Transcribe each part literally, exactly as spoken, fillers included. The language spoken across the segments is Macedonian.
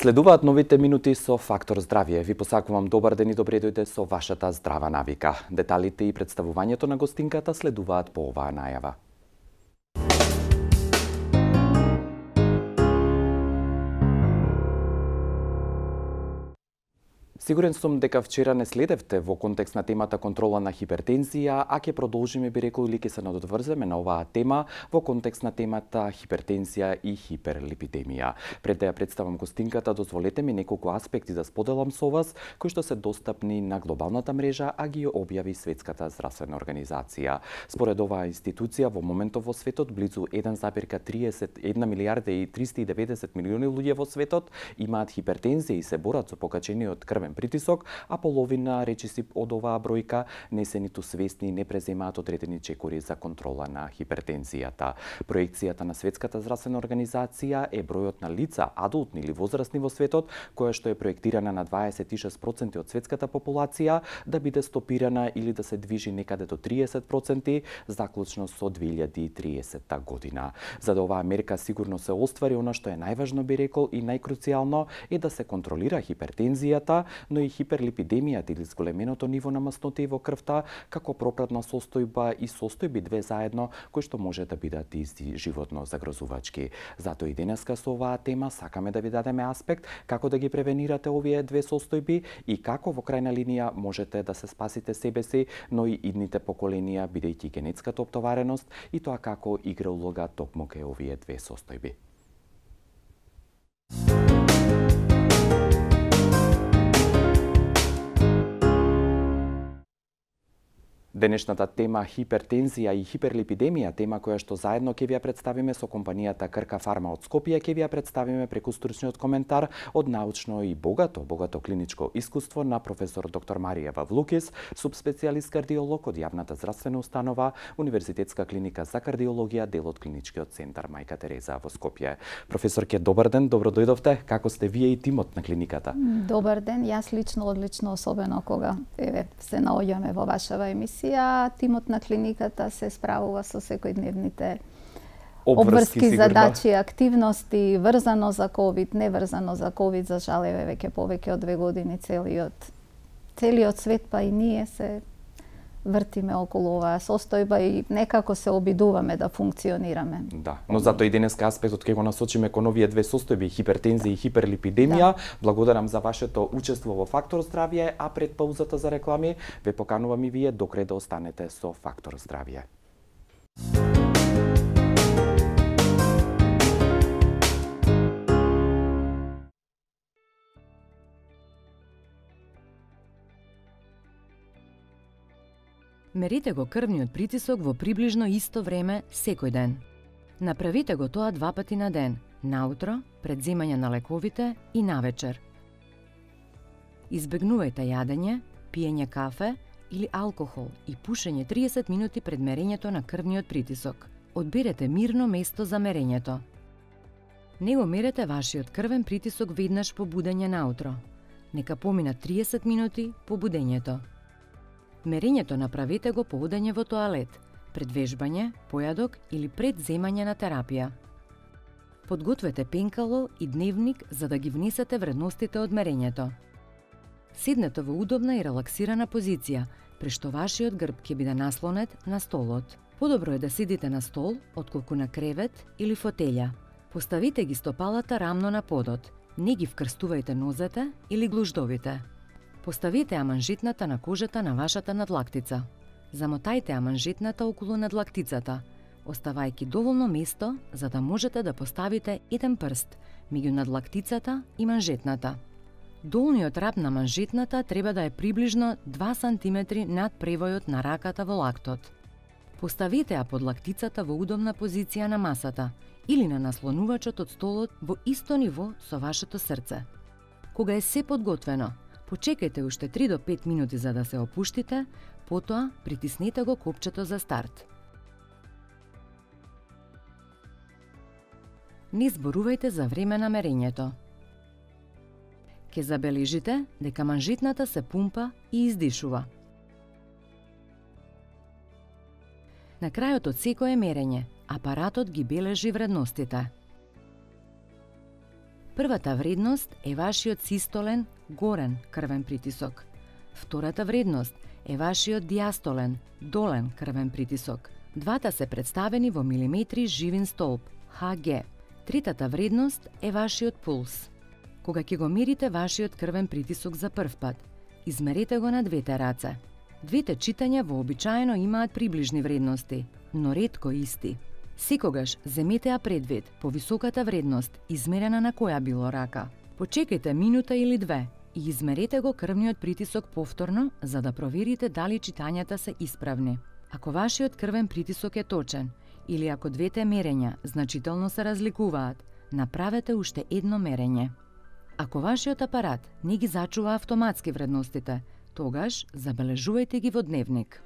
Следуваат новите минути со Фактор здравје. Ви посакувам добар ден и добре дојде со вашата здрава навика. Деталите и представувањето на гостинката следуваат по оваа најава. Сигурен сум дека вчера не следевте во контекст на темата контрола на хипертензија, а ќе продолжиме, би рекол, или ќе се надодврземе на оваа тема во контекст на темата хипертензија и хиперлипидемија. Пред да ја представам гостинката, дозволете ми неколку аспекти да споделам со вас, кои што се достапни на глобалната мрежа, а ги објави Светската здравствена организација. Според оваа институција, во моментов во светот, близу еден зарез триесет и една милијарда и триста и деветдесет милиони луѓе во светот имаат хипертензија и се борат со покачениот крвен притисок, а половина речиси од оваа бројка не се ниту свесни и не преземаат одредени чекори за контрола на хипертензијата. Проекцијата на Светската здравствена организација е бројот на лица, адултни или возрастни во светот, која што е проектирана на дваесет и шест проценти од светската популација, да биде стопирана или да се движи некаде до триесет проценти, заклучно со две илјади и триесетта година. За да оваа мерка сигурно се оствари, она што е најважно, би рекол, и најкруцијално е да се контролира хипертензијата, но и хиперлипидемијата или зголеменото ниво на масноти во крвта, како пропратна состојба и состојби две заедно, кои што може да бидат и животно загрозувачки. Затоа и денеска со оваа тема сакаме да ви дадеме аспект како да ги превенирате овие две состојби и како во крајна линија можете да се спасите себе си, но и идните поколенија, бидејќи генетската оптовареност и тоа како игра улога токму кај овие две состојби. Денешната тема хипертензија и хиперлипидемија, тема која што заедно ќе ви ја представиме со компанијата Крка Фарма од Скопје, ќе ви ја представиме преку стручниот коментар од научно и богато, богато клиничко искуство на професор доктор Марија Вавлукис, субспецијалист кардиолог од јавната здравствена установа Универзитетска клиника за кардиологија, дел од клиничкиот центар Мајка Тереза во Скопје. Професорке, добар ден, добро дојдовте. Како сте вие и тимот на клиниката? Добар ден, јас лично одлично, особено кога еве се наоѓаме во вашава емисија. Тимот на клиниката се справува со секојдневните обврски, обврски задачи, активности, врзано за ковид, неврзано за ковид, за жал еве веќе повеќе од две години целиот целиот свет, па и ние се вртиме околу оваа состојба и некако се обидуваме да функционираме. Да, но затоа и денеска аспектот ќе го насочиме кон овие две состојби, хипертензија и хиперлипидемија. Да. Благодарам за вашето учество во Фактор здравје, а пред паузата за реклами ве поканувам и вие докре да останете со Фактор здравје. Мерите го крвниот притисок во приближно исто време секој ден. Направете го тоа два пати на ден, наутро, пред земање на лековите и навечер. Избегнувајте јадење, пиење кафе или алкохол и пушење триесет минути пред мерењето на крвниот притисок. Одберете мирно место за мерењето. Не го мерете вашиот крвен притисок веднаш по будење наутро. Нека поминат триесет минути по будењето. Мерењето направете го по одење во тоалет, пред вежбање, појадок или пред земање на терапија. Подгответе пенкало и дневник за да ги внесете вредностите од мерењето. Седнете во удобна и релаксирана позиција, при што вашиот грб ќе биде наслонет на столот. Подобро е да седите на стол, отколку на кревет или фотелја. Поставите ги стопалата рамно на подот, не ги вкрстувајте нозете или глуждовите. Поставете аманжетната на кожата на вашата надлактица. Замотајте аманжетната околу надлактицата, оставајќи доволно место за да можете да поставите еден прст меѓу надлактицата и манжетната. Долниот раб на манжетната треба да е приближно два сантиметри над превојот на раката во лактот. Поставете ја под лактицата во удобна позиција на масата или на наслонувачот од столот во исто ниво со вашето срце. Кога е се подготвено, почекајте уште три до пет минути за да се опуштите, потоа притиснете го копчето за старт. Не зборувајте за време на мерењето. Ке забележите дека манжетната се пумпа и издишува. На крајот од секое мерење, апаратот ги бележи вредностите. Првата вредност е вашиот систолен, горен крвен притисок. Втората вредност е вашиот диастолен, долен крвен притисок. Двата се представени во милиметри живин столб, Х Г. Третата вредност е вашиот пулс. Кога ќе го мерите вашиот крвен притисок за прв пат, измерете го на двете раце. Двете читања вообичаено имаат приближни вредности, но ретко исти. Секогаш земете ја предвид по високата вредност, измерена на која било рака. Почекајте минута или две и измерете го крвниот притисок повторно за да проверите дали читањата се исправни. Ако вашиот крвен притисок е точен или ако двете мерења значително се разликуваат, направете уште едно мерење. Ако вашиот апарат не ги зачува автоматски вредностите, тогаш забележувајте ги во дневник.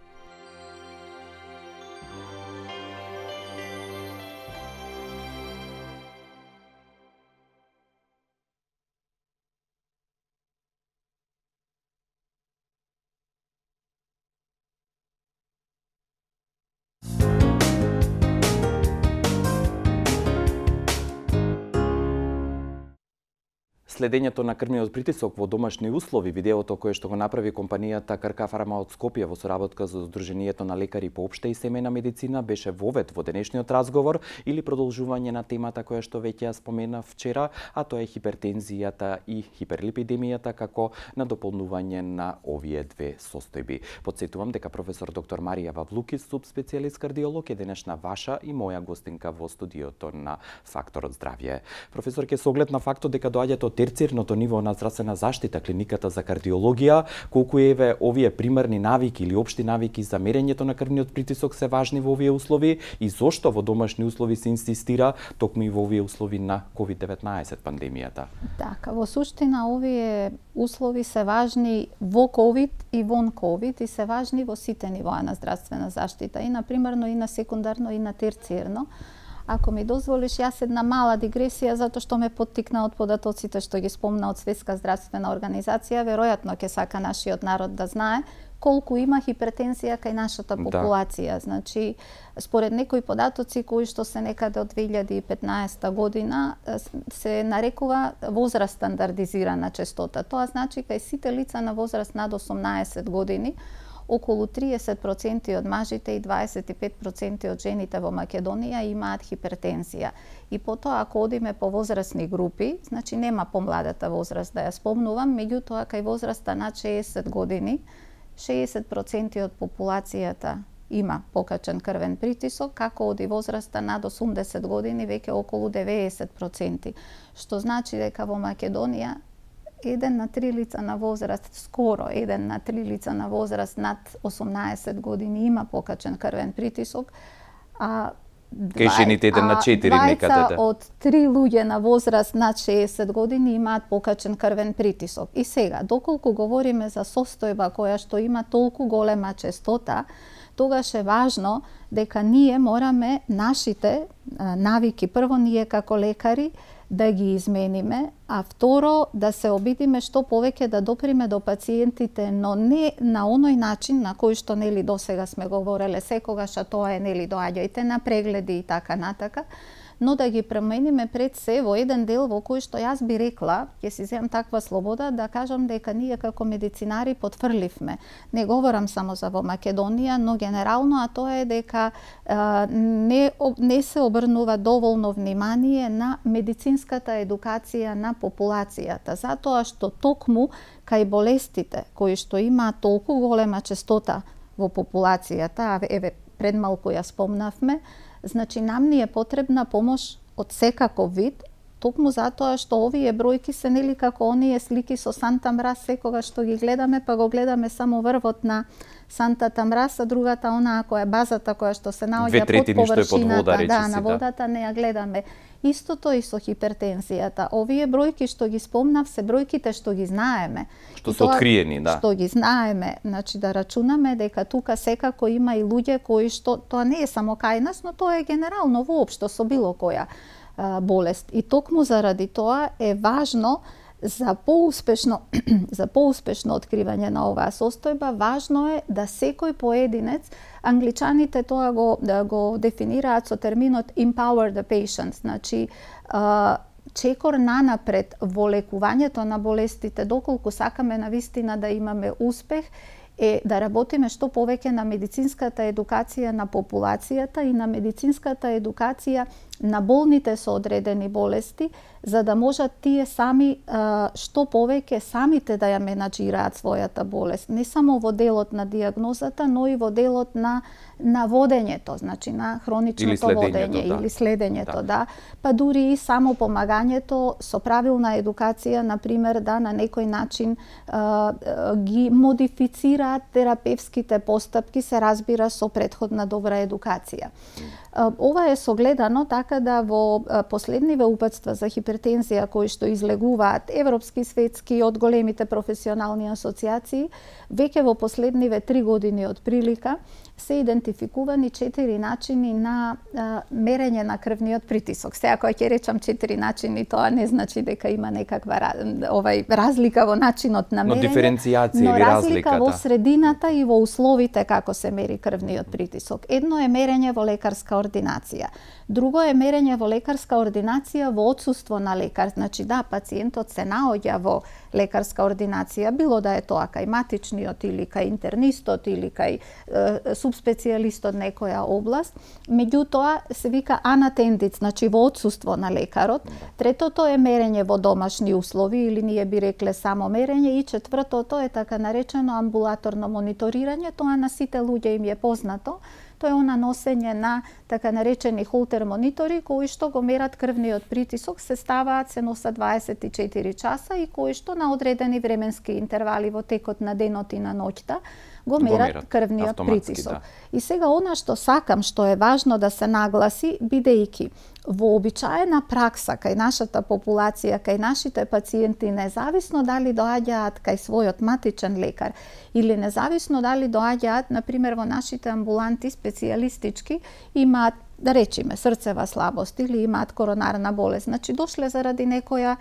Следењето на крвниот притисок во домашни услови, видеото кое што го направи компанијата Крка Фарма од Скопје во соработка со Сдруженијето на лекари по општа и семејна медицина, беше вовед во денешниот разговор или продолжување на темата која што веќе ја спомена вчера, а тоа е хипертензијата и хиперлипидемијата како надополнување на овие две состојби. Потсетувам дека професор доктор Марија Вавлукис, субспецијалист кардиолог, е денешна ваша и моја гостинка во студиото на Факторот здравје. Професор, ке со оглед на фактот дека доаѓате од терцијерното ниво на здравствена заштита, клиниката за кардиологија, колку еве овие примерни навики или општи навики за мерењето на крвниот притисок се важни во овие услови и зошто во домашни услови се инсистира токму и во овие услови на ковид деветнаесет пандемијата? Така, во суштина овие услови се важни во ковид и вон ковид и се важни во сите нивоа на здравствена заштита, и на примерно и на секундарно и на терцијерно. Ако ми дозволиш, јас една мала дигресија, затоа што ме поттикна од податоците што ги спомна од Светска здравствена организација, веројатно ќе сака нашиот народ да знае колку има хипертензија кај нашата популација. Да. Значи, според некои податоци кои што се некаде од две илјади и петнаесета година се нарекува возраст стандардизирана честота. Тоа значи кај сите лица на возраст над осумнаесет години, околу триесет проценти од мажите и дваесет и пет проценти од жените во Македонија имаат хипертензија. И потоа, ако одиме по возрастни групи, значи нема помладата возраст да ја спомнувам, меѓутоа кај возраста над шеесет години, шеесет проценти од популацијата има покачен крвен притисок, како оди возраста над осумдесет години веќе околу деветдесет проценти. Што значи дека во Македонија еден на три лица на возраст, скоро еден на три лица на возраст над осумнаесет години има покачен крвен притисок, а кај жените еден на четири некаде. Од три луѓе на возраст над шеесет години имаат покачен крвен притисок. И сега, доколку говориме за состојба која што има толку голема честота, тогаш е важно дека ние мораме нашите навики, прво ние како лекари, да ги измениме, а второ да се обидиме што повеќе да доприме до пациентите, но не на оној начин на кој што нели досега сме говореле секогаш, а тоа е нели доаѓајте на прегледи и така натака, но да ги премениме пред се во еден дел во кој што јас би рекла, ќе си земам таква слобода да кажам дека ние како медицинари потврливме. Не говорам само за во Македонија, но генерално, а тоа е дека а, не, не се обрнува доволно внимание на медицинската едукација на популацијата, затоа што токму кај болестите кои што имаат толку голема честота во популацијата, а еве пред малку ја спомнавме, значи нам ни е потребна помош од секаков вид, токму затоа што овие бројки се нели како оние слики со Санта Мраз, секогаш што ги гледаме, па го гледаме само врвот на Сантата Мраз, а другата онаа која е базата која што се наоѓа под површината, под да, на водата не ја гледаме. Истото и со хипертензијата. Овие бројки што ги спомнав се бројките што ги знаеме. Што се откриени, да. Што ги знаеме, значи да рачунаме дека тука секако има и луѓе кои што тоа не е само кај нас, но тоа е генерално воопшто со било која а, болест. И токму заради тоа е важно за поуспешно за поуспешно откривање на оваа состојба, важно е да секој поединец, англичаните тоа го да го дефинираат со терминот empower the patient, значи а, чекор нанапред во лекувањето на болестите, доколку сакаме навистина да имаме успех, е да работиме што повеќе на медицинската едукација на популацијата и на медицинската едукација на болните со одредени болести, за да можат тие сами што повеќе самите да ја менаџираат својата болест, не само во делот на дијагнозата, но и во делот на на водењето, значи на хроничното или водење да. или следењето, да. да. Па дури и само помагањето со правилна едукација, на пример, да на некој начин а, ги модифицираат терапевските постапки, се разбира со претходна добра едукација. Ова е согледано така да во последниве упатства за хипертензија кои што излегуваат европски, светски од големите професионални асоциации, веќе во последниве три години од прилика се идентификувани четири начини на а, мерење на крвниот притисок. Сега кога ќе речам четири начини, тоа не значи дека има некаква овај разлика во начинот на мерење, но диференцијација но или разлика разлика, во да. средината и во условите како се мери крвниот притисок. Едно е мерење во лекарска ординација. Друго е мерење во лекарска ординација во отсуство на лекар. Значи да, пациентот се наоѓа во лекарска ординација, било да е тоа кај матичниот или кај интернистот или кај е, субспецијалист од некоја област, меѓутоа се вика unattended, значи во отсуство на лекарот. Третото е мерење во домашни услови или ние би рекле само мерење, и четвртото е така наречено амбулаторно мониторирање, тоа на сите луѓе им е познато. Тоа е она носење на така наречени холтер монитори кои што го мерат крвниот притисок, се ставаат, се носат дваесет и четири часа и кои што на одредени временски интервали во текот на денот и на ноќта го мерат, мерат крвниот притисок. Да. И сега она што сакам, што е важно да се нагласи, бидејќи во обичаена пракса кај нашата популација, кај нашите пациенти, независно дали доаѓаат кај својот матичен лекар или независно дали доаѓаат, например, во нашите амбуланти специјалистички, имаат, да речеме, срцева слабост или имаат коронарна болест. Значи, дошле заради некоја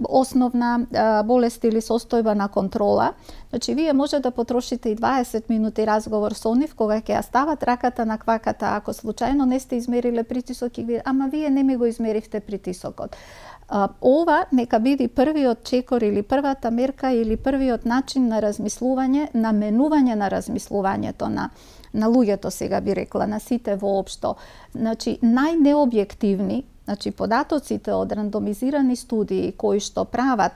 основна а, болест или состојба на контрола. Значи, вие може да потрошите и дваесет минути разговор со нив, кога ќе ја стават раката на кваката, ако случајно не сте измериле притисок и ви, ама вие не ми го измеривте притисокот. А, ова нека биде првиот чекор или првата мерка или првиот начин на размислување, на менување на размислувањето на на луѓето, сега би рекла, на сите воопшто. Значи, најнеобјективни, значи податоците од рандомизирани студии кои што прават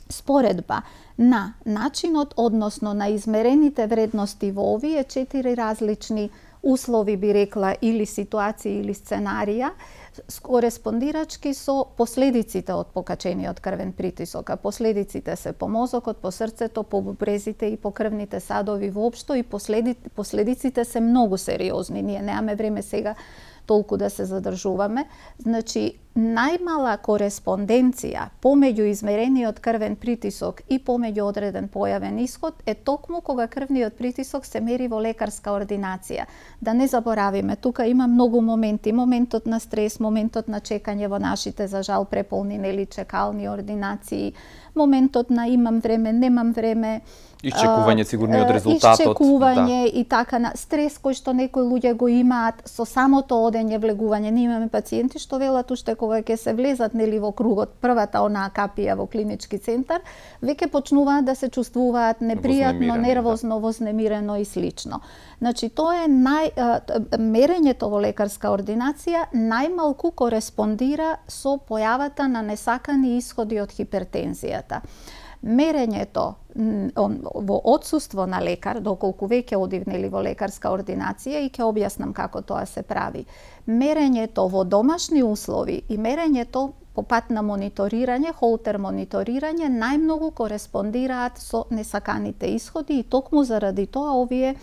споредба на начинот, односно на измерените вредности во овие четири различни услови, би рекла, или ситуации или сценарија, кореспондирачки со последиците од покачениот крвен притисок. А последиците се по мозокот, по срцето, по бубрезите и по крвните садови воопшто, и последи, последиците се многу сериозни. Ние немаме време сега толку да се задржуваме. Значи, најмала кореспонденција помеѓу измерениот крвен притисок и помеѓу одреден појавен исход е токму кога крвниот притисок се мери во лекарска ординација. Да не заборавиме, тука има многу моменти. Моментот на стрес, моментот на чекање во нашите, за жал, преполни нели чекални ординации, моментот на имам време, немам време, Исчекување сигурно од резултатот. Исчекување да. И така на стрес кој што некои луѓе го имаат со самото одење влегување. Ние имаме пациенти што велат уште кога ќе се влезат нели во кругот, првата онаа капија во клинички центар, веќе почнуваат да се чувствуваат непријатно, нервозно, да. Вознемирено и слично. Значи тоа е нај мерењето во лекарска ординација најмалку кореспондира со појавата на несакани исходи од хипертензијата. Мерењето во отсуство на лекар, доколку веќе одивнели во лекарска ординација, и ќе објаснам како тоа се прави. Мерењето во домашни услови и мерењето по пат на мониторирање, холтер мониторирање, најмногу кореспондираат со несаканите исходи, и токму заради тоа овие,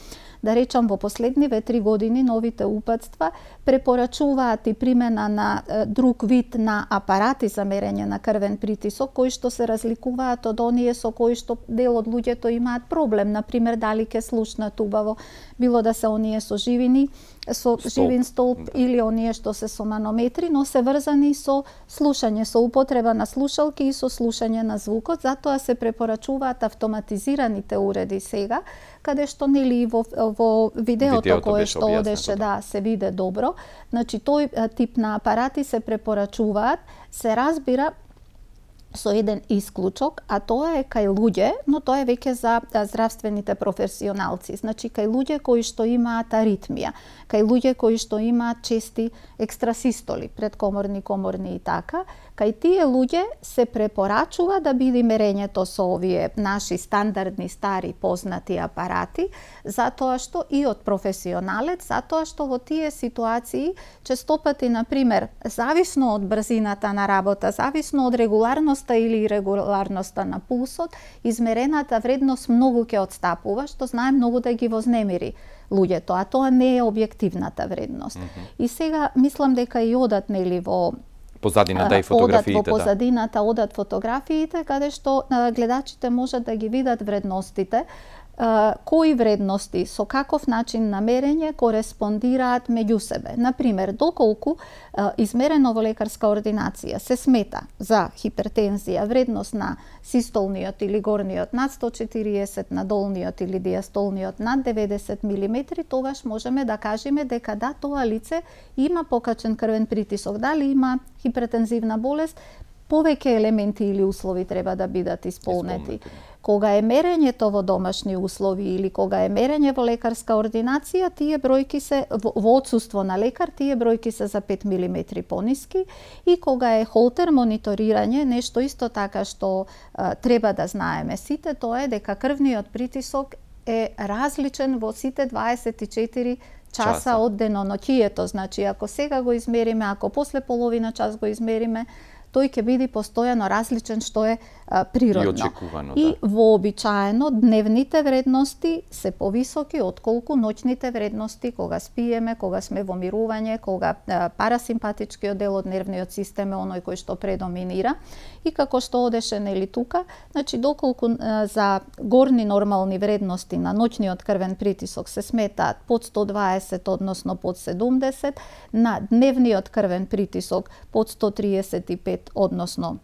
да речам, во последниве три години новите упатства препорачуваат и примена на е, друг вид на апарати за мерење на крвен притисок, кои што се разликуваат од оние со кои што дел од луѓето имаат проблем, например дали ќе слушнат убаво, било да се оние со живини со столб, живин столб да. или оние што се со манометри, но се врзани со слушање, со употреба на слушалки и со слушање на звукот. Затоа се препорачуваат автоматизираните уреди сега, каде што нели во, во видеото, видеото кое што одеше, да, се виде добро. Значи тој тип на апарати се препорачуваат, се разбира со еден исклучок, а тоа е кај луѓе, но тоа е веќе за здравствените професионалци. Значи кај луѓе кои што имаат аритмија, кај луѓе кои што имаат чести екстрасистоли, предкоморни, коморни и така, кај тие луѓе се препорачува да биде мерењето со овие наши стандардни, стари, познати апарати, затоа што и од професионалец, затоа што во тие ситуации честопати, например, зависно од брзината на работа, зависно од регуларноста или ирегуларноста на пулсот, измерената вредност многу ќе отстапува, што знае многу да ги вознемири луѓето, а тоа не е објективната вредност. Mm -hmm. И сега мислам дека и одат нели во позадината и фотографиите, одат во позадината, одат фотографиите, каде што гледачите можат да ги видат вредностите, кои вредности со каков начин на мерење кореспондираат меѓу себе. Например, доколку измерено во лекарска ординација се смета за хипертензија вредност на систолниот или горниот над сто четириесет, на долниот или диастолниот над деветдесет милиметри, тогаш можеме да кажеме дека да, тоа лице има покачен крвен притисок. Дали има хипертензивна болест, повеќе елементи или услови треба да бидат исполнети. Исполнети. Кога е мерењето во домашни услови или кога е мерење во лекарска ординација, тие бројки се во, во отсуство на лекар, тие бројки се за пет милиметри пониски, и кога е холтер мониторирање, нешто исто така што а, треба да знаеме сите, тоа е дека крвниот притисок е различен во сите дваесет и четири часа, часа. од деноноќието. Значи, ако сега го измериме, ако после половина час го измериме, тој ќе биде постојано различен, што е а, природно. И очекувано, и да. вообичаено дневните вредности се повисоки отколку ноќните вредности кога спиеме, кога сме во мирување, кога а, парасимпатичкиот дел од нервниот систем е оној кој што предоминира. И како што одеше нели тука, значи доколку а, за горни нормални вредности на ноќниот крвен притисок се сметаат под сто дваесет, односно под седумдесет, на дневниот крвен притисок под сто триесет и пет, односно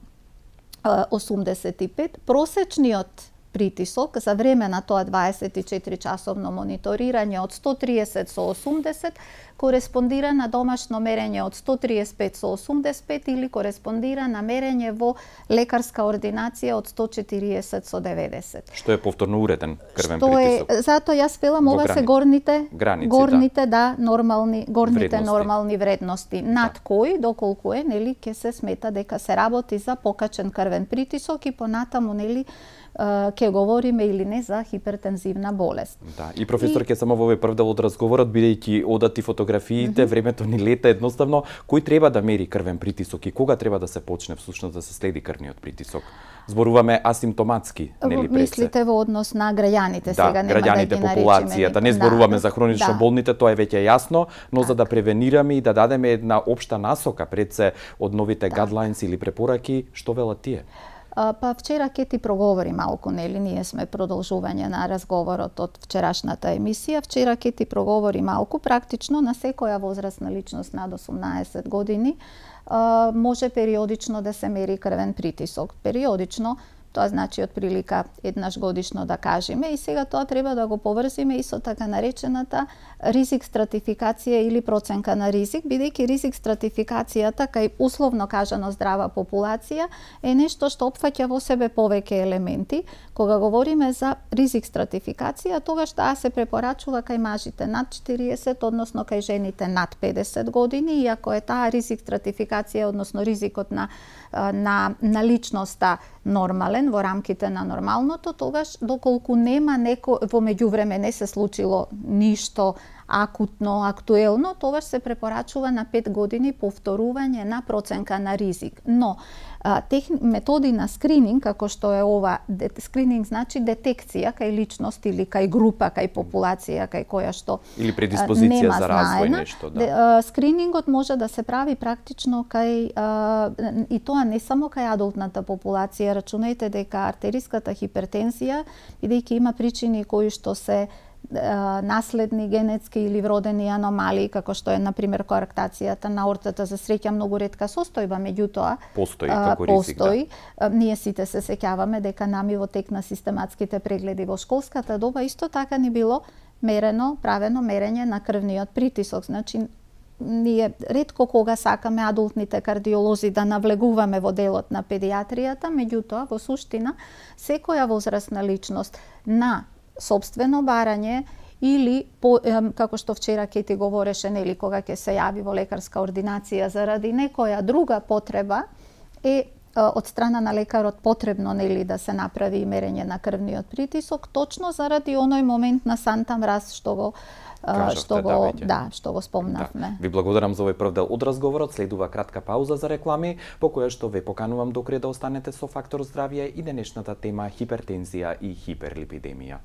осумдесет и пет, просечниот притисок за време на тоа дваесет и четири часовно мониторирање од сто триесет со осумдесет кореспондира на домашно мерење од сто триесет и пет со осумдесет и пет или кореспондира на мерење во лекарска ординација од сто четириесет со деветдесет. Што е повторно уреден крвен Што притисок? Е, затоа јас велам ова се горните граници, горните да, нормални горните вредности. нормални вредности, над да. кои доколку е нели ќе се смета дека се работи за покачен крвен притисок и понатаму нели ќе говориме или не за хипертензивна болест. Да, и професор ќе и... само во овој прв дел од разговорот, бидејќи одат и фотографиите, mm -hmm. времето ни лета едноставно, кој треба да мери крвен притисок и кога треба да се почне всушност да се следи крвниот притисок? Зборуваме асимптоматски, нели пред се? Мислите во однос на граѓаните да, сега, нема граѓаните, да ги популацијата, не зборуваме да, за хронично да. болните, тоа е веќе јасно, но так. за да превенираме и да дадеме една општа насока пред се од новите так. guidelines или препораки, што велат тие? Па вчера ке ти проговори малку, нели, ние сме продолжување на разговорот од вчерашната емисија. Вчера ке ти проговори малку, практично на секоја возрастна личност над осумнаесет години може периодично да се мери крвен притисок. Периодично, тоа значи од прилика еднаш годишно да кажеме, и сега тоа треба да го поврзиме и со така наречената ризик стратификација или проценка на ризик, бидејќи ризик стратификацијата кај условно кажано здрава популација е нешто што опфаќа во себе повеќе елементи. Кога говориме за ризик стратификација, тогаш таа се препорачува кај мажите над четириесет, односно кај жените над педесет години, и ако е таа ризик стратификација, односно ризикот на на на личноста нормален во рамките на нормалното, тогаш доколку нема неко во меѓувреме не се случило ништо акутно, актуелно, тогаш се препорачува на пет години повторување на проценка на ризик. Но а, тех, методи на скрининг, како што е ова, де, скрининг значи детекција кај личност или кај група, кај популација, кај која што или предиспозиција за развој знаена, нешто, да. Де, а, скринингот може да се прави практично кај а, и тоа не само кај адултната популација. Рачунајте дека артериската хипертензија, бидејќи има причини кои што се наследни, генетски или вродени аномалии, како што е, например, коарктацијата на ортата, за среќа многу ретка состојба, меѓутоа постои како ризик. Постои. Да. Ние сите се сеќаваме дека нами во тек на систематските прегледи во школската доба исто така ни било мерено, правено мерење на крвниот притисок. Значи, ние ретко кога сакаме адултните кардиолози да навлегуваме во делот на педиатријата, меѓутоа, во суштина, секоја возрастна личност на сопствено барање или, по, како што вчера Кети говореше, нели, кога ќе се јави во лекарска ординација заради некоја друга потреба, е од страна на лекарот потребно, нели, да се направи мерење на крвниот притисок, точно заради оној момент на санта мраз што го Кажавте, што го да, да, што го спомнавме. Да. Ви благодарам за овој прв дел од разговорот. Следува кратка пауза за реклами, по која што ве поканувам докре да останете со Фактор здравје и денешната тема хипертензија и хиперлипидемија.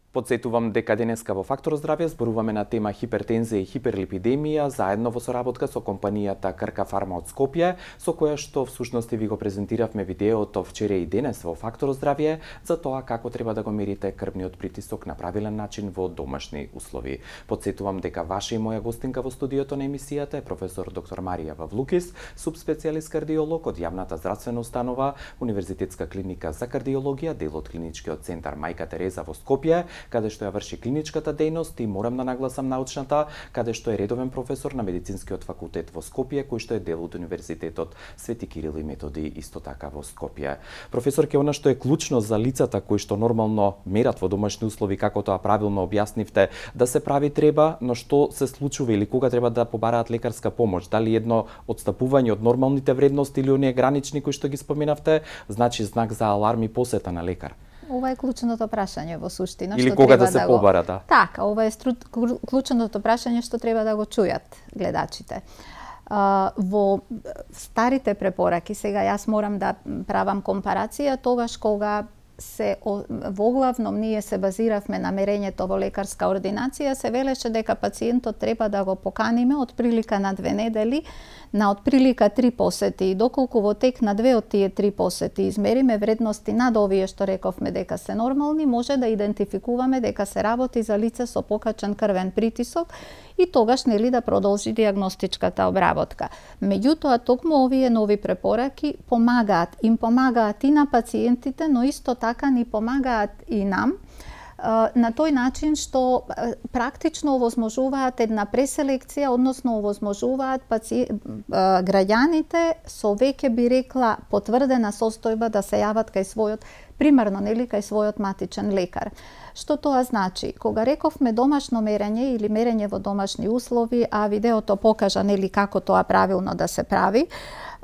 Подсетувам дека денеска во Фактор здравје зборуваме на тема хипертензија и хиперлипидемија заедно во соработка со компанијата Крка Фарма од Скопје, со која што всушност ви го презентиравме видеото вчера и денес во Фактор здравје за тоа како треба да го мерите крвниот притисок на правилен начин во домашни услови. Подсетувам дека ваша и моја гостинка во студиото на емисијата е професор доктор Марија Вавлукис, субспецијалист кардиолог од јавната здравствена установа Универзитетска клиника за кардиологија, дел од клиничкиот центар Мајка Тереза во Скопје, каде што ја врши клиничката дејност и морам да нагласам научната, каде што е редовен професор на медицинскиот факултет во Скопје, кој што е дел од Универзитетот Свети Кирил и Методи исто така во Скопје. Професор, ке она што е клучно за лицата кои што нормално мерат во домашни услови, како тоа правилно објаснивте, да се прави треба, но што се случува или кога треба да побараат лекарска помош? Дали едно одстапување од нормалните вредности или оние гранични кои што ги споменавте, значи знак за аларм и посета на лекар? Ова е клучното прашање во суштина. Или што кога треба да се да побара, да? Така, ова е стру... клучното прашање што треба да го чујат гледачите. Uh, во старите препораки, сега јас морам да правам компарација, тогаш кога се воглавном ние се базиравме на мерењето во лекарска ординација, се велеше дека пациентот треба да го поканиме од прилика на две недели на од прилика три посети, и доколку во тек на две од тие три посети измериме вредности над овие што рековме дека се нормални, може да идентификуваме дека се работи за лице со покачен крвен притисок и тогаш, нели, да продолжи диагностичката обработка. Меѓутоа, токму овие нови препораки помагаат, им помагаат и на пациентите, но исто така ни помагаат и нам, на тој начин што практично овозможуваат една преселекција, односно овозможуваат паци... граѓаните со веќе би рекла потврдена состојба да се јават кај својот, примерно, нели, кај својот матичен лекар. Што тоа значи? Кога рековме домашно мерење или мерење во домашни услови, а видеото покажа, нели, како тоа правилно да се прави,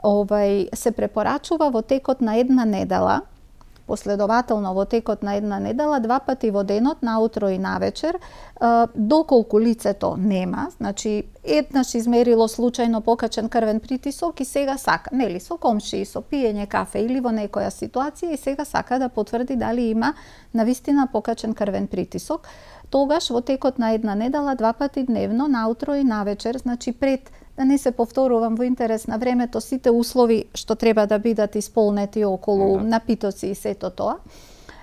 овај се препорачува во текот на една недела, последователно во текот на една недела, два пати во денот, наутро и навечер, доколку лицето нема, значи еднаш измерило случајно покачен крвен притисок и сега сака, нели, со комшии, со пиење кафе или во некоја ситуација и сега сака да потврди дали има навистина покачен крвен притисок, тогаш во текот на една недела, два пати дневно, наутро и навечер, значи пред, да не се повторувам во интерес на времето, сите услови што треба да бидат исполнети околу напитоци и сето тоа,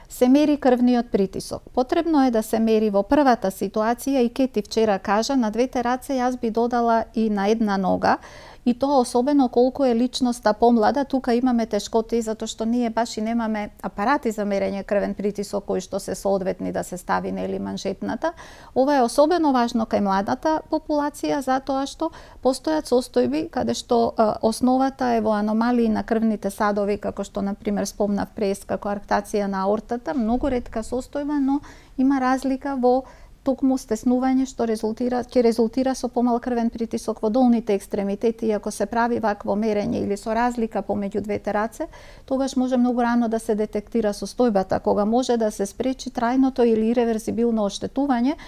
се мери крвниот притисок. Потребно е да се мери во првата ситуација, и Кети вчера кажа, на двете раце, јас би додала и на една нога, и тоа особено колку е личноста помлада. Тука имаме тешкоти затоа што ние баш и немаме апарати за мерење крвен притисок кои што се соодветни да се стави, нели, манжетната. Ова е особено важно кај младата популација затоа што постојат состојби каде што а, основата е во аномалии на крвните садови, како што на пример спомнав преска, коарктација на аортата, многу ретка состојба, но има разлика во токму стеснување што резултира ќе резултира со помал крвен притисок во долните екстремитети, и ако се прави вакво мерење или со разлика помеѓу двете раце, тогаш може многу рано да се детектира состојбата, кога може да се спречи трајното или иреверзибилно оштетување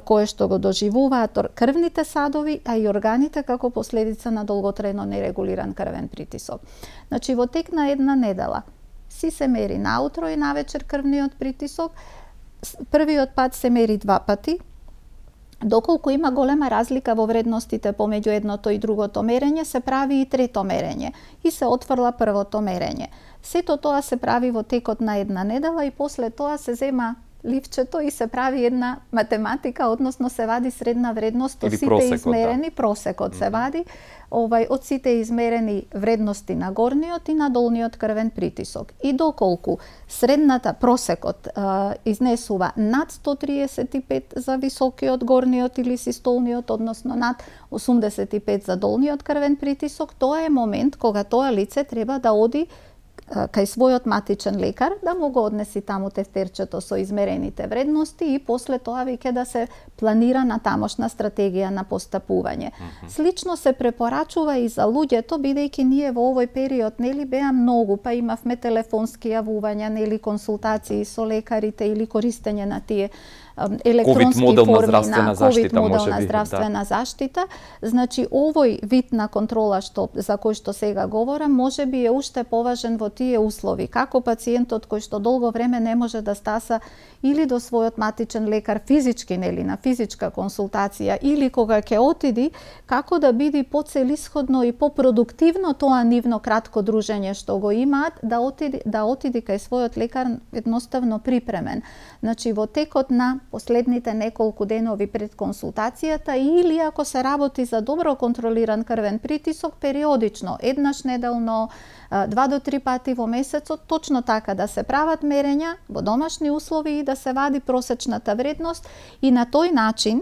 кое што го доживуваат крвните садови, а и органите како последица на долготрајно нерегулиран крвен притисок. Значи во тек на една недела си се мери наутро и навечер крвниот притисок. Првиот пат се мери два пати, Доколку има голема разлика во вредностите помеѓу едното и другото мерење, се прави и трето мерење и се отфрла првото мерење. Сето тоа се прави во текот на една недела и после тоа се зема ливчето и се прави една математика, односно се вади средна вредност од сите просекот, измерени, да. Просекот се вади, овај од сите измерени вредности на горниот и на долниот крвен притисок. И доколку средната просекот а, изнесува над сто триесет и пет за високиот горниот или систолниот, односно над осумдесет и пет за долниот крвен притисок, тоа е момент кога тоа лице треба да оди кај својот матичен лекар, да му го однеси таму тефтерчето со измерените вредности и после тоа веќе да се планира на тамошна стратегија на постапување. Mm-hmm. Слично се препорачува и за луѓето, бидејќи ние во овој период нели беа многу, па имавме телефонски јавувања, нели консултации со лекарите или користење на тие електронски модел форми на на ковид модел на здравствена да. заштита. Значи, овој вид на контрола што за кој што сега говорам, може би е уште поважен во тие услови, како пациентот кој што долго време не може да стаса или до својот матичен лекар физички, нели, на физичка консултација, или кога ќе отиди, како да биде поцелисходно и попродуктивно тоа нивно кратко дружење што го имаат, да отиди, да отиди кај својот лекар едноставно припремен. Значи, во текот на последните неколку денови пред консултацијата или ако се работи за добро контролиран крвен притисок, периодично, еднаш неделно, два до три пати во месецот, точно така да се прават мерења во домашни услови и да се вади просечната вредност и на тој начин,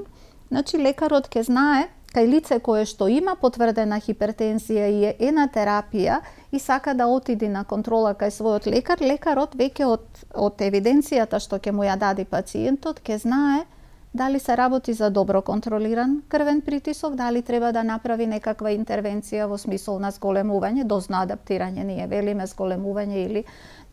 значи лекарот ќе знае кај лице кое што има потврдена хипертензија и е на терапија и сака да отиди на контрола кај својот лекар, лекарот веќе од, од евиденцијата што ќе му ја даде пациентот, ќе знае дали се работи за добро контролиран крвен притисок, дали треба да направи некаква интервенција во смисол на зголемување, дозно адаптирање, ние велиме зголемување или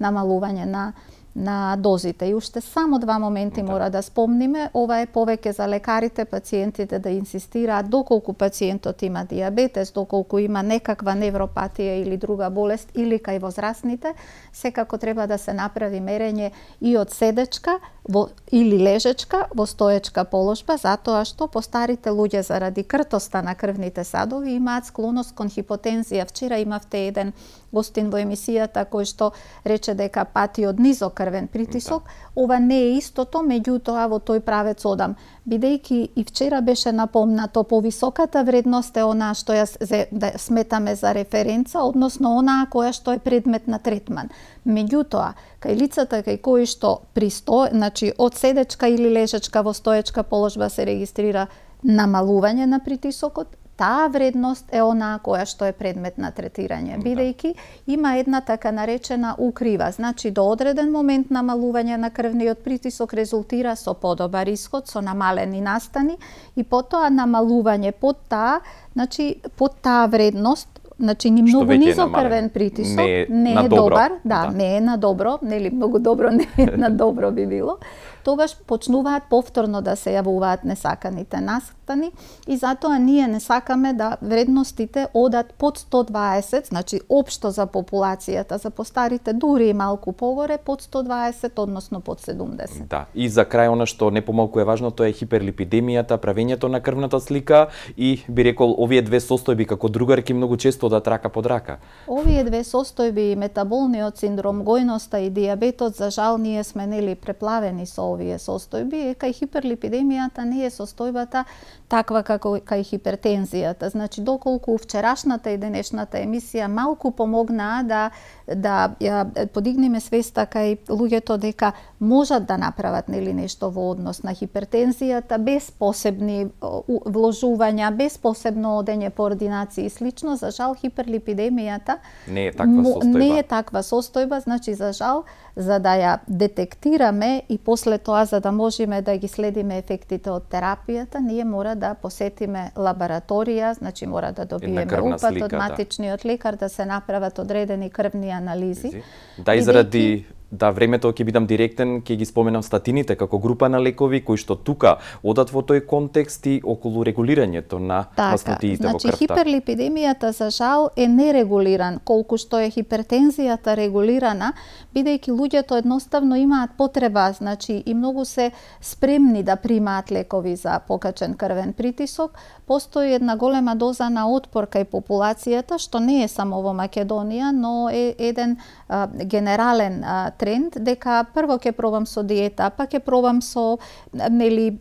намалување на на дозите. И уште само два моменти да. Мора да спомниме. Ова е повеќе за лекарите, пациентите да инсистираат доколку пациентот има диабетес, доколку има некаква невропатија или друга болест, или кај возрастните, секако треба да се направи мерење и од седечка во, или лежечка во стоечка положба, затоа што постарите луѓе заради кртоста на крвните садови имаат склоност кон хипотензија. Вчера имавте еден гостин во емисијата кој што рече дека пати од низок крвен притисок. Да. Ова не е истото, меѓутоа во тој правец одам. Бидејќи и вчера беше напомнато, повисоката вредност е онаа што ја да сметаме за референца, односно онаа која што е предмет на третман. Меѓутоа, кај лицата кај кои што присто, значи од седечка или лежечка во стоечка положба се регистрира намалување на притисокот, таа вредност е онаа која што е предмет на третирање, бидејќи има една така наречена укрива, значи до одреден момент намалување на крвниот притисок резултира со подобар исход, со намалени настани и потоа намалување под таа, значи под таа вредност, значи ни многу низок крвен притисок, не е, не е добар, да, да, не е на добро, нели многу добро не е на добро би било. Тогаш почнуваат повторно да се јавуваат несаканите настани и затоа ние не сакаме да вредностите одат под сто дваесет, значи општо за популацијата, за постарите дури и малку погоре, под сто дваесет, односно под седумдесет. Да, и за крај она што не помалку е важно, тоа е хиперлипидемијата, правењето на крвната слика и би рекол овие две состојби како другарки многу често одат рака под рака. Овие две состојби, метаболниот синдром, гојноста и диабетот, за жал ние сме нели преплавени со овие состојби, кај хиперлипидемијата не е состојбата таква како кај хипертензијата. Значи, доколку вчерашната и денешната емисија малку помогнаа да да ја подигнеме свеста кај луѓето дека можат да направат нели нешто во однос на хипертензијата без посебни вложувања, без посебно одење по ординации и слично, за жал хиперлипидемијата не е таква состојба. Не е таква состојба, значи за жал за да ја детектираме и после тоа за да можеме да ги следиме ефектите од терапијата, ние мора да посетиме лабораторија, значи мора да добиеме упат од матичниот лекар, да се направат одредени крвни анализи. Да, и заради да, времето ќе бидам директен, ќе ги споменам статините како група на лекови кои што тука одат во тој контекст и околу регулирањето на така, маснотиите значи, во крвта. хиперлипидемијата за жал е нерегулиран, колку што е хипертензијата регулирана, бидејќи луѓето едноставно имаат потреба, значи и многу се спремни да примаат лекови за покачен крвен притисок, постои една голема доза на отпор кај популацијата, што не е само во Македонија, но е еден а, генерален а, тренд, дека прво ќе пробам со диета, па ќе пробам со нели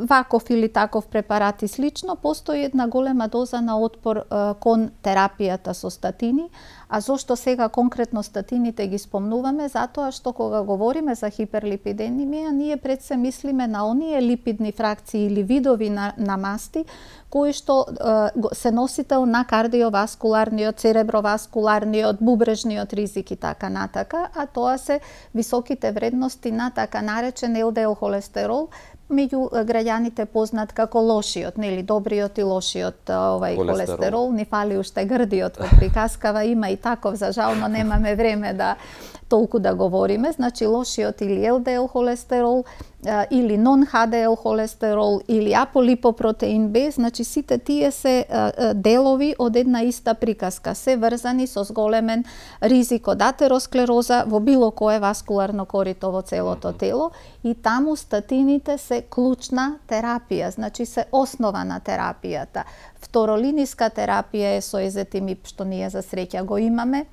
ваков или таков препарат и слично, постои една голема доза на отпор а, кон терапијата со статини. А зошто сега конкретно статините ги спомнуваме? Затоа што кога говориме за хиперлипидемија, ние пред се мислиме на оние липидни фракции или видови на, на масти кои што е, се носител на кардиоваскуларниот, цереброваскуларниот, бубрежниот ризик и така натака, а тоа се високите вредности на така наречен ел де ел холестерол, меѓу граѓаните познат како лошиот, нели, добриот и лошиот овај холестерол. холестерол. Ни фали уште грдиот во приказкава, има и таков, за жал, но немаме време да толку да говориме. Значи лошиот или ел де ел холестерол, или нон-ха де ел холестерол, или аполипопротеин Б, значи сите тие се делови од една иста приказка, се врзани со зголемен ризик од атеросклероза во било кое васкуларно корито во целото тело, и таму статините се клучна терапија, значи се основа на терапијата. Второлиниска терапија е со езетимиб, што ние за среќа го имаме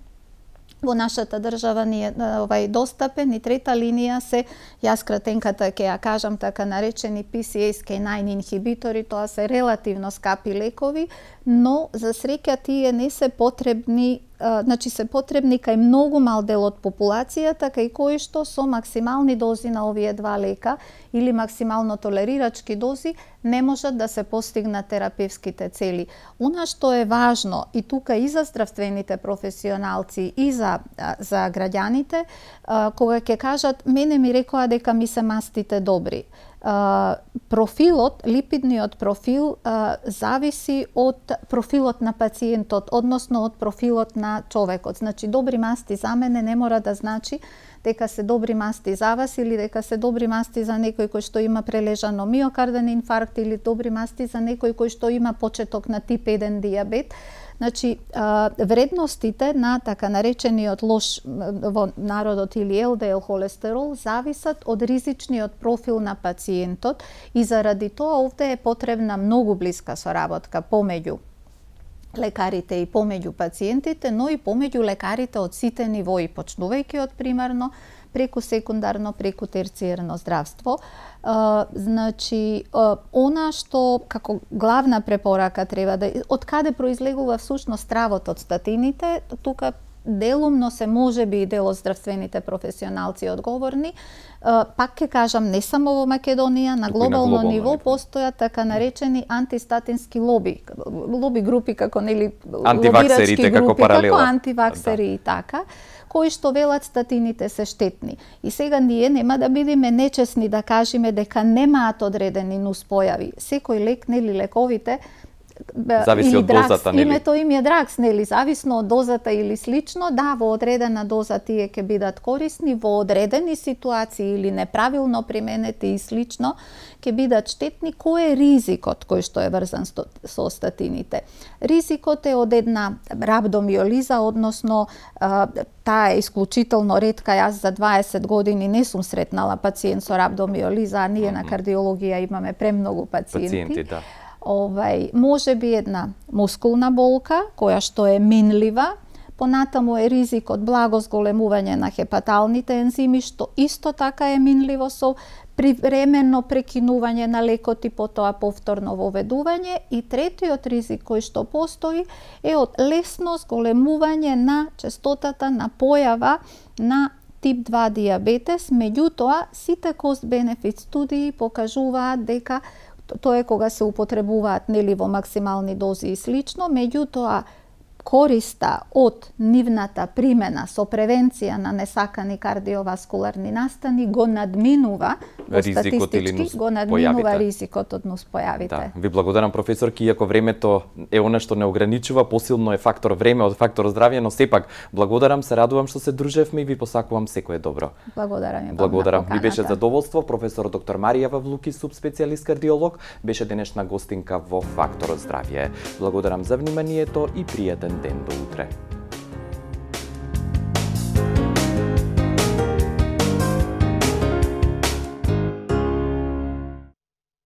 во нашата држава, ние овај достапен, и трета линија се, јас кратенката ќе ја кажам, така наречени пи си ес кей наин инхибитори, тоа се релативно скапи лекови, но за среќа тие не се потребни, а, значи се потребни кај многу мал дел од популацијата, кај кои што со максимални дози на овие два лека или максимално толерирачки дози не можат да се постигнат терапевските цели. Она што е важно и тука и за здравствените професионалци и за, за граѓаните, а, кога ќе кажат, мене ми рекоа дека ми се мастите добри. Uh, профилот, липидниот профил uh, зависи од профилот на пациентот, односно од профилот на човекот. Значи, добри масти за мене не мора да значи дека се добри масти за вас или дека се добри масти за некој кој што има прележано миокарден инфаркт или добри масти за некој кој што има почеток на тип еден дијабет. Значи, вредностите на така наречениот лош во народот или ел де ел холестерол зависат од ризичниот профил на пациентот, и заради тоа овде е потребна многу блиска соработка помеѓу лекарите и помеѓу пациентите, но и помеѓу лекарите од сите нивои, почнувајќи од примарно, преку секундарно, преку терциерно здравство. Uh, значи, uh, она што како главна препорака треба да... Од каде произлегува всушност стравот од статините, тука делумно се може би и дел од здравствените професионалци одговорни. Uh, пак ќе кажам, не само во Македонија, на глобално, на ниво постојат така наречени антистатински лоби, лоби групи како нели антиваксерите како паралела, како антиваксери, да, и така, кои што велат статините се штетни. И сега ние нема да бидеме нечесни да кажеме дека немаат одредени нуспојави. Секој лек, нели, лековите зависи или од дракс, дозата, нели? Името им е дракс, нели, зависно од дозата или слично, да, во одредена доза тие ќе бидат корисни, во одредени ситуации или неправилно применети и слично ќе бидат штетни. Кој е ризикот кој што е врзан со статините? Ризикот е од една рабдомиолиза, односно таа е исклучително ретка. Јас за дваесет години не сум сретнала пациент со рабдомиолиза, а ние mm -hmm. на кардиологија имаме премногу пациенти. Пациенти, да. Овај, може би една мускулна болка, која што е минлива, понатаму е ризик од благо зголемување на хепаталните ензими, што исто така е минливо со привремено прекинување на лекот и потоа повторно воведување. И третиот ризик кој што постои е од лесно зголемување на честотата на појава на тип два дијабетес. Меѓутоа, сите кост-бенефит студии покажуваат дека тоа е кога се употребуваат, нели, во максимални дози и слично, меѓутоа користа од нивната примена со превенција на несакани кардиоваскуларни настани го надминува во статистички, го надминува појавите. Ризикот од нуспојавите. Да, ви благодарам професорки, иако времето е она што не ограничува, посилно е фактор време од фактор здравје, но сепак благодарам, се радувам што се дружевме и ви посакувам секое добро. Благодарам и Благодарам. Ми беше задоволство професор доктор Марија Вавлуки, субспецијалист кардиолог, беше денешна гостинка во Фактор здравје. Благодарам за вниманието и пријатен ден до утре.